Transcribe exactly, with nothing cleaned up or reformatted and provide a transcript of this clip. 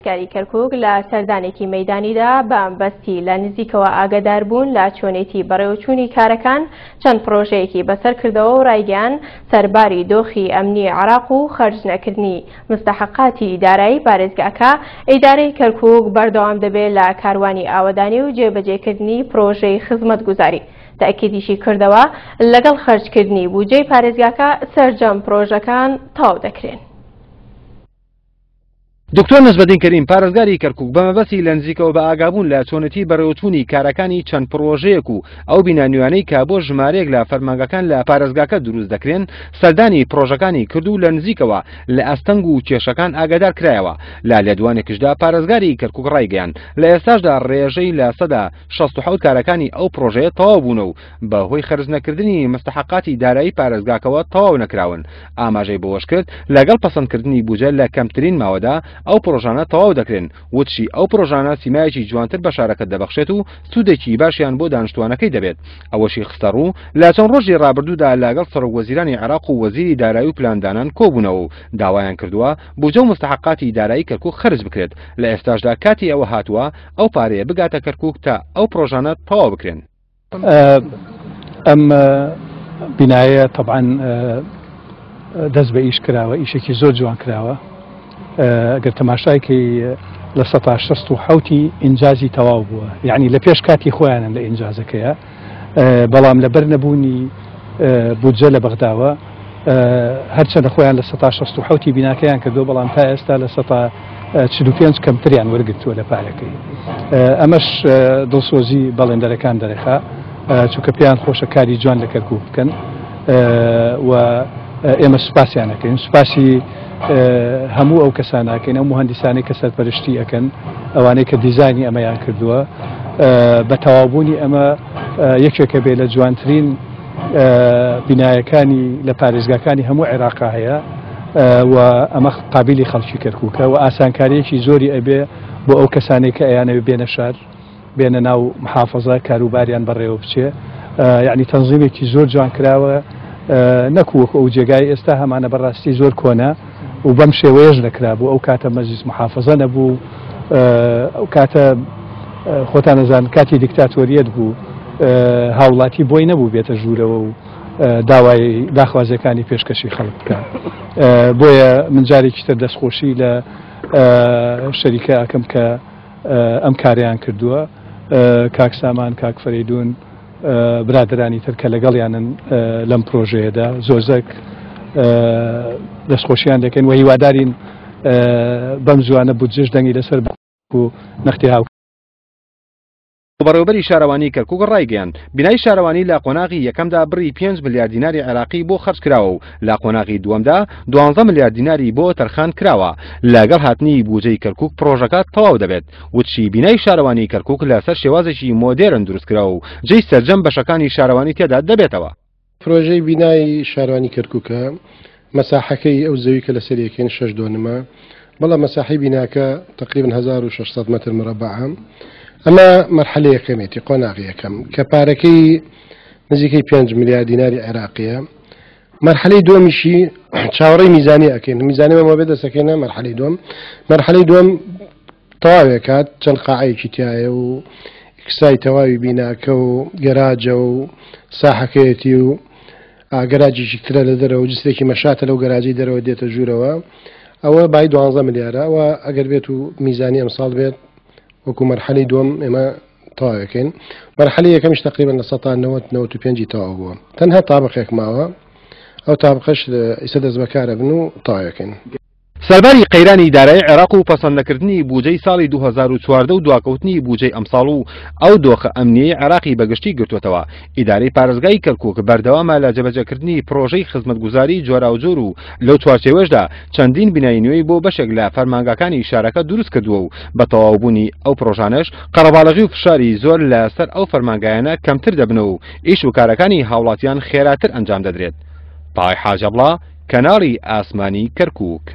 پارێزگاری کەرکوک لە سەردانێکی مەیدانیدا بە مەبەستی لە نزیکەوە ئاگادار بوون لە چۆنێتی بەڕێوەچوونی کارەکان چەند پرۆژەیەکی بەسەر کردەوە و ڕایگەیان سەرباری دۆخی ئەمنی عێراق و خەرج نەکردنی مستحقاتی دارایی پارێزگاکە، ئیدارەی کەرکوک بەردەوام دەبێت لە کاروانی ئاوەدانی و جێبەجێکردنی پرۆژەی خزمەتگوزاری. تەئکیدیشی کردەوە لەگەڵ خەرجکردنی بودجەی پارێزگاکە سەرجەم پرۆژەکان تەواو دەکرێن. دکتۆر نەجمەدین کەریم پارێزگاری کەرکوک بە مەبەستی لە نزیکەوە بە ئاگابوون لە چۆنێتی بەڕێوەچوونی کارەکانی چەند پرۆژەیەک و ئەو بینا نوێیانەی کە بۆ ژمارەیەک لە فەرمانگەکان لە پارێزگاکە دروست دەکرێن سەردانی پرۆژەکانی کرد و لە نزیکەوە لە ئەستەنگ و کێشەکان ئاگادار کرایەوە. لە لێدوانێکشدا پارێزگاری کەرکوک ڕایگەیاند لە ئێستاشدا ڕێژەی لە سەدا شەست و حەوت کارەکانی ئەو پرۆژەیە تەواو بوون و بە هۆی خەرج نەکردنی مستحقاتی دارایی پارێزگاکەوە تەواو نەکراون. ئاماژەی بەوەش کرد لەگەڵ پەسەندکردنی بودجە لە کەمترین ماوەدا ئەو پرۆژانە تەواو دەکرێن، وتشی ئەو پرۆژانە سیمایەکی جوانتر بە شارەکە دەبەخشێت و سوودێکی باشیان بۆ دانیشتوانەکەی دەبێت. ئەوەشی خستەڕوو لە چەند ڕۆژی ڕابردوودا لەگەڵ سەرۆک وەزیرانی عێراق و وەزیری دارایی و پلاندانان کۆبوونەوە و داوایان کردووە بودجە و مستحقاتی دارایی کەرکوک خەرج بکرێت. لە ئێستاشدا کاتی ئەوە هاتووە ئەو پارەیە بگاتە کەرکوک تا ئەو پرۆژانە تەواو بکرێن. ئەم بینایە طبعا دەست بە ئیش کراوە، ئیشێکی زۆر جوان کراوە. ئەگەر تەماشایکەی لە سەتا شەست و حەوتی ئینجازی تەواو بووە، یعنی لە پێش کاتی خۆیانن لە ئینجازەکەیە، بەڵام لەبەر نەبوونی بودجە لە بەغداوە هەرچەندە خۆیان لە سەتا شەست و حەوتی بیناکەیان کردو، بەڵام تا ئێستا لە سەتا چل و پێنج کەمتریان وەرگرتووە لە پارەکەی. ئەمەش دڵسۆزی بەڵێندەرەکان دەرەخا، چونکە پێیان خۆشە کاری جوان لە کەرکوک بکەن و ئێمە سوپاسیان ئەکەین. سوپاسی هەموو ئەو کەساناکەین، ئەو مهندسانەی کە سەرپەرشتی ئەکەن، ئەوانەی کە دیزاینی ئەمەیان کردووە. بە تەواوبوونی ئەمە یەکێکە بێ لە جوانترین بینایەکانی لە پارێزگاکانی هەموو عێراقا هەیە و ئەمە قابلی خەڵکی کەرکوکە و ئاسانکاریەکی زۆری ئەبێ بۆ ئەو کەسانەی کە ئەیانەوێ بێنە شار، بێنە ناو محافظە، کاروباریان بەڕێوە بچێ. یعنی تەنظیمێکی زۆر جوان کراوە، نەکو وەکو ئەو جێگای ئێستا هەمانە بەڕاستی زۆر کۆنە و بەم شێوەیەش نەکرا بوو. ئەو کاتە مەجلیس محافظە نەبوو، ئەو کاتە خۆتان نەزان کاتی دیکتاتۆریەت بوو، هاوڵاتی بۆی نەبوو بێتە ژوورەوە و داوای داخوازیەکانی پێشکەشی خەڵک بکە. بۆیە من جارێکی تر دەستخۆشی لە شەریکە ئەکەم کە ئەم کاریان کردووە، کاک سامان، کاک فەریدون، برادرانی تر کە لەگەڵیانن لەم پرۆژەیەدا زۆر زەک دەستخۆشیان دەکەین و هیوادارین بەم زوانە بودجەش دەنگی لەسەر و نەختی هاو. بەڕێوەبەری شارەوانی کەرکوک ڕایگەیاند بینای شارەوانی لە قۆناغی یەکەمدا بڕی پێنج ملیار دیناری عێراقی بۆ خەرج کراوە و لە قۆناغی دووەمدا دوانزە ملیار دیناری بۆ تەرخان کراوە. لەگەڵ هاتنی بودجەی کەرکوک پرۆژەکە تەواو دەبێت. وتشی بینای شارەوانی کەرکوک لەسەر شێوازێکی مۆدێرن دروست کراوە و جێی سەرجەم بەشەکانی شارەوانی تێدا دەبێتەوە. پرۆژەی بینای شارەوانی کەرکوکە مەساحەکەی ئەو زەوی کە لەسەر یەکەین شەش دۆنمە، بەڵام مەساحەی بیناکە تقریبا هەزار و شەش سەد مەتر مربعە. ئەمە مەرحەلە یەکەمێتی، قۆناغی یەکەم کە پارەکەی نزیکەی پێنج ملیار دیناری عێراقیە. مەرحەلەی دووەمیشی چاوەڕێی میزانی ئەکەین، میزانی مەمە بێ دەستەکەینە مەرحەلەی دووەم. مەرحەلەی دووەم تەواوێکات چەند قاعەیەکی تایە و ئیکسای تەواوی بیناکە و گەراجە و ساحەکەیەتی و گەراجێکی ترە لە دەرەوە، جسرێکی مەشاتە لەو گەراجەی دەرەوە دێتە ژوورەوە. ئەوە بای دوانزە ملیارە. ئەوە ئەگەر بێت و میزانی ئەمساڵ بێت وەکو مەرحەلەی دووەم ئێمە تەواوەکەین. مەرحەلەی یەکەمیش تقریبا لە سەتا نەوەت نەوەت و پێنجی تەواو بووە، تەنها تابقێک ماوە، ئەو تابقەش ئێستا دەست بەکارە بن و تەواوەکەین. سەرباری قەیرانی دارایی عێراق و پەسەندنەکردنی بودجەی ساڵی دوو هەزار و چواردە و دواکەوتنی بودجەی ئەمساڵ و ئەو دۆخە ئەمنیەی عێراقی بەگشتی گرتووەتەوە، ئیدارەی پارێزگای کەرکوک بەردەوامە لە جێبەجێکردنی پرۆژەی خزمەتگوزاری جۆراوجۆر و لەو چوارچێوەشدا چەندین بینای نوێی بۆ بەشێک لە فەرمانگاکانی شارەکە دروست کردووە و بە تەواوبوونی ئەو پرۆژانەش قەرەباڵغی و فشاری زۆر لەسەر ئەو فەرمانگایانە کەمتر دەبنەوە و ئیش و کارەکانی هاوڵاتیان خێراتر ئەنجام دەدرێت. پای حاجەبڵا، کەناڵی ئاسمانی کەرکوک.